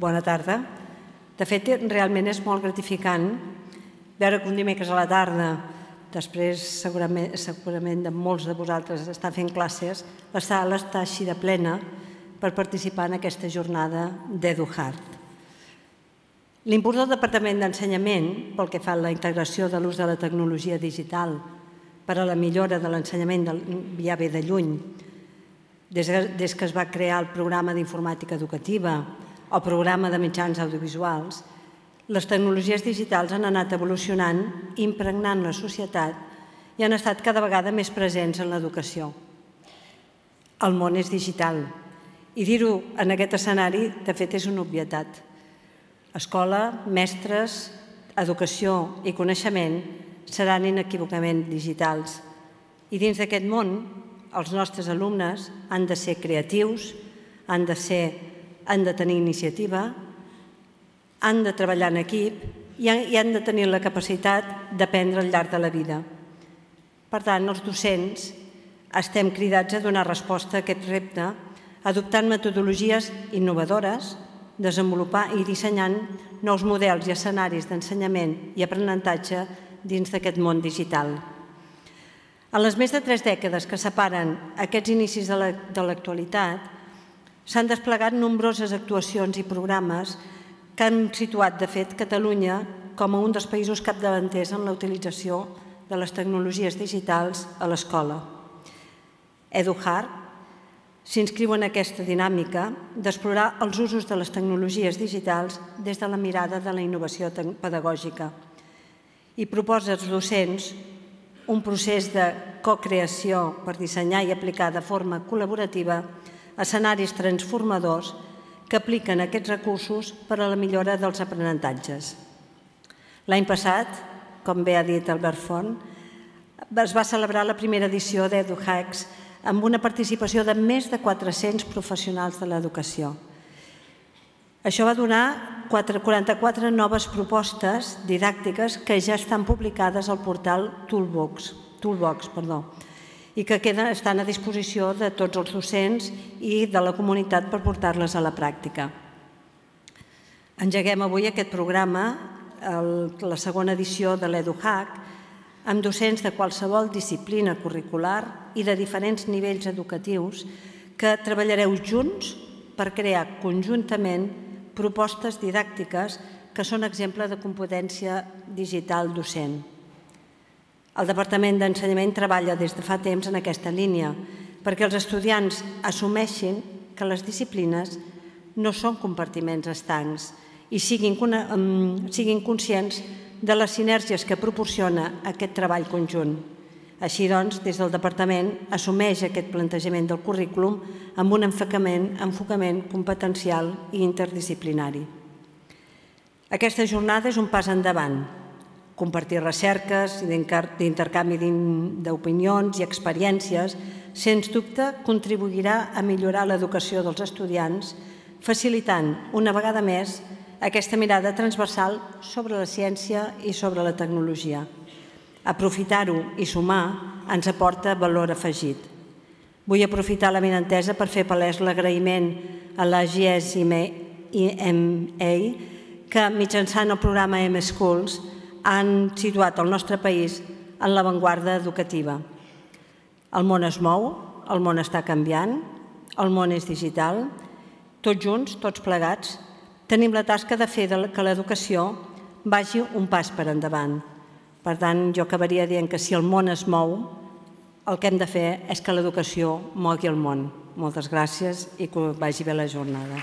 Bona tarda. De fet, realment és molt gratificant veure que un dimecres a la tarda, després segurament de molts de vosaltres estar fent classes, la sala està així de plena per participar en aquesta jornada d'EduHeart. L'impuls del Departament d'Ensenyament, pel que fa a la integració de l'ús de la tecnologia digital per a la millora de l'ensenyament ja ve de lluny, des que es va crear el programa d'informàtica educativa o programa de mitjans audiovisuals, les tecnologies digitals han anat evolucionant, impregnant la societat i han estat cada vegada més presents en l'educació. El món és digital i dir-ho en aquest escenari, de fet, és una obvietat. Escola, mestres, educació i coneixement seran inequívocament digitals. I dins d'aquest món, els nostres alumnes han de ser creatius, han de tenir iniciativa, han de treballar en equip i han de tenir la capacitat d'aprendre al llarg de la vida. Per tant, els docents estem cridats a donar resposta a aquest repte adoptant metodologies innovadores, desenvolupar i dissenyant nous models i escenaris d'ensenyament i aprenentatge dins d'aquest món digital. En les més de 3 dècades que separen aquests inicis de l'actualitat, s'han desplegat nombroses actuacions i programes que han situat, de fet, Catalunya com a un dels països capdavanters en la utilització de les tecnologies digitals a l'escola. EduHeart s'inscriu en aquesta dinàmica d'explorar els usos de les tecnologies digitals des de la mirada de la innovació pedagògica i proposa als docents un procés de co-creació per dissenyar i aplicar de forma col·laborativa escenaris transformadors que apliquen aquests recursos per a la millora dels aprenentatges. L'any passat, com bé ha dit Albert Font, es va celebrar la primera edició d'EduHacks amb una participació de més de 400 professionals de l'educació. Això va donar 44 noves propostes didàctiques que ja estan publicades al portal Toolbox i que estan a disposició de tots els docents i de la comunitat per portar-les a la pràctica. Engeguem avui aquest programa, la segona edició de l'EduHack, amb docents de qualsevol disciplina curricular i de diferents nivells educatius que treballareu junts per crear conjuntament propostes didàctiques que són exemple de competència digital docent. El Departament d'Ensenyament treballa des de fa temps en aquesta línia perquè els estudiants assumeixin que les disciplines no són compartiments estancs i siguin conscients de les sinergies que proporciona aquest treball conjunt. Així doncs, des del Departament assumeix aquest plantejament del currículum amb un enfocament competencial i interdisciplinari. Aquesta jornada és un pas endavant. Compartir recerques, d'intercanvi d'opinions i experiències, sens dubte, contribuirà a millorar l'educació dels estudiants, facilitant, una vegada més, aquesta mirada transversal sobre la ciència i sobre la tecnologia. Aprofitar-ho i sumar ens aporta valor afegit. Vull aprofitar la benentesa per fer palès l'agraïment a la GSMA que mitjançant el programa M-Schools han situat el nostre país en l'avantguarda educativa. El món es mou, el món està canviant, el món és digital. Tots junts, tots plegats, tenim la tasca de fer que l'educació vagi un pas per endavant. Per tant, jo acabaria dient que si el món es mou, el que hem de fer és que l'educació mogui el món. Moltes gràcies i que vagi bé la jornada.